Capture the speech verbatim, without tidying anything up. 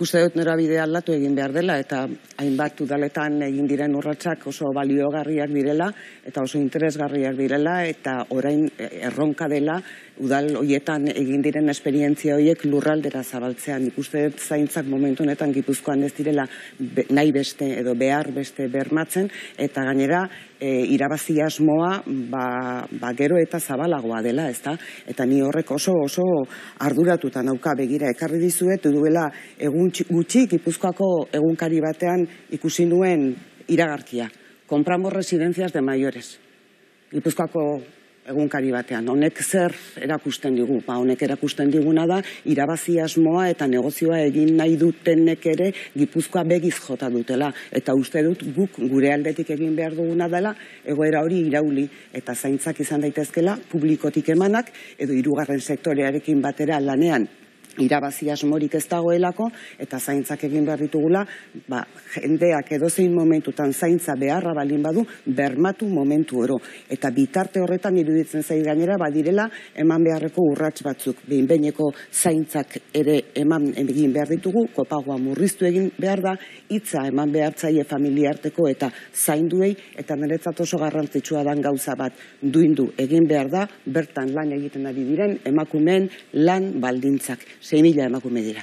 uste dut norabidea aldatu egin behar dela, eta hainbat udaletan egin diren urratsak oso baliogarriak direla, eta oso interesgarriak direla, eta orain erronka dela, udal hoietan egin diren esperientzia horiek lurraldera zabaltzean. Nik uste dut zaintzak momentu honetan Gipuzkoan ez direla nahi beste edo behar beste bermatzen, eta gainera irabazi asmoa ba gero eta zabalagoa dela, ezta? Eta ni horrek oso oso arduratuta nauka. Begira, ekarri dizuet duela egun gutxi Gipuzkoako egunkari batean ikusi nuen iragarkia. Compramos residencias de mayores. Gipuzkoako egunkari batean. Honek zer erakusten digu? Ba, honek erakusten diguna da irabazi asmoa eta negozioa egin nahi dutenek ere Gipuzkoa begiz jota dutela. Eta uste dut guk gure aldetik egin behar duguna dela egoera hori irauli eta zaintzak izan daitezkela publikotik emanak edo hirugarren sektorearekin batera lanean irabazi asmorik ez dagoelako, eta zaintzak egin behar ditugula, ba, jendeak edozein momentutan zaintza beharra balin badu, bermatu momentu oro. Eta bitarte horretan iruditzen zait gainera, badirela eman beharreko urrats batzuk. Behin-behineko zaintzak ere eman egin behar ditugu, kopagoa murriztu egin behar da, hitza eman behar zaie familiarteko eta zainduei, eta niretzat oso garrantzitsua dan gauza bat duindu egin behar da, bertan lan egiten ari diren emakumeen lan baldintzak. sei mila emakume dira.